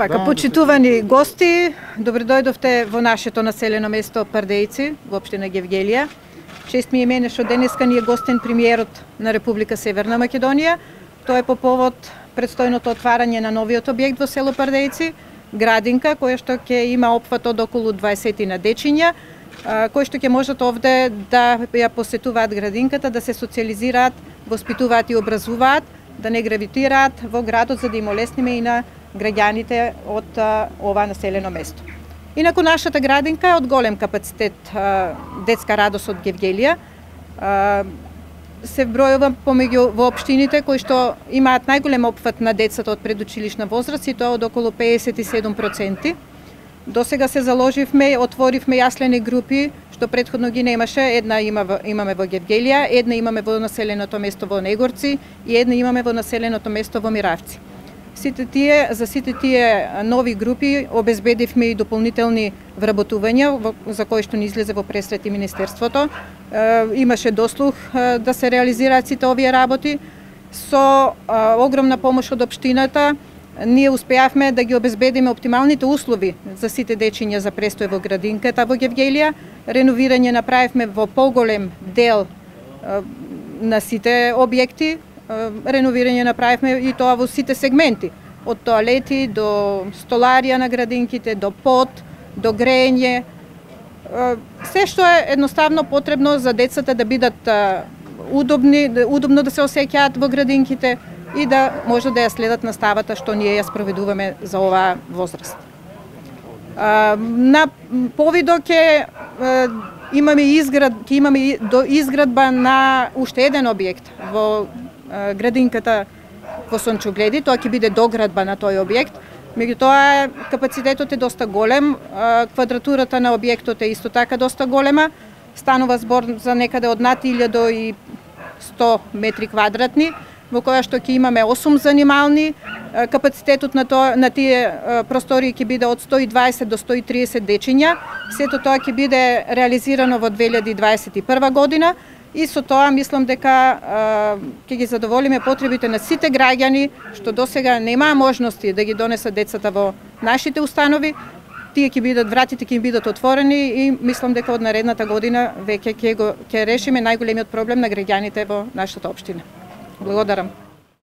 Почитувани гости, добро дојдовте во нашето населено место Пардејци, во општина Гевгелија. Чест ми е мене што денеска ни е гостен премиерот на Република Северна Македонија. Тоа е по повод предстојното отварање на новиот објект во село Пардејци, градинка која што ќе има опфат од околу 20 на дечиња, кои што ќе можат овде да ја посетуваат градинката, да се социализираат, воспитуваат и образуваат, да не гравитираат во градот, за да им олесниме и на граѓаните од ова населено место. Инаку нашата градинка е од голем капацитет, детска радост од Гевгелија. Се бројува помеѓу во општините кои што имаат најголем опфат на децата од предучилишна возраст, и тоа од околу 57%. До сега се заложивме, отворивме јаслени групи, што претходно ги немаше. Една имаме во Гевгелија, една имаме во населеното место во Негорци и една имаме во населеното место во Миравци. За сите тие нови групи обезбедивме и дополнителни вработувања, за кои што ни излезе во пресрет и Министерството. Имаше дослух да се реализираат сите овие работи. Со огромна помош од општината, ние успеавме да ги обезбедиме оптималните услови за сите дечиња за престој во градинката во Гевгелија. Реновирање направивме во поголем дел на сите објекти. Реновирање направивме и тоа во сите сегменти, од тоалети до столарија на градинките, до под, до грејење. Се што е едноставно потребно за децата да бидат удобно да се осеќаат во градинките и да може да ја следат наставата што ние ја спроведуваме за оваа возраст. На повидо ќе имаме изградба на уште еден објект во градинката во Сончогледи. Тоа ќе биде доградба на тој објект. Меѓутоа капацитетот е доста голем, квадратурата на објектот е исто така доста голема. Станува збор за некаде од над 1100 метри квадратни, во која што ќе имаме 8 занимални. Капацитетот на тие простории ќе биде од 120 до 130 дечиња. Сето тоа ќе биде реализирано во 2021 година. И со тоа мислам дека ќе ги задоволиме потребите на сите граѓани што досега немаа можности да ги донесат децата во нашите установи. Тие вратите ќе им бидат отворени и мислам дека од наредната година веќе ќе решиме најголемиот проблем на граѓаните во нашата општина. Благодарам.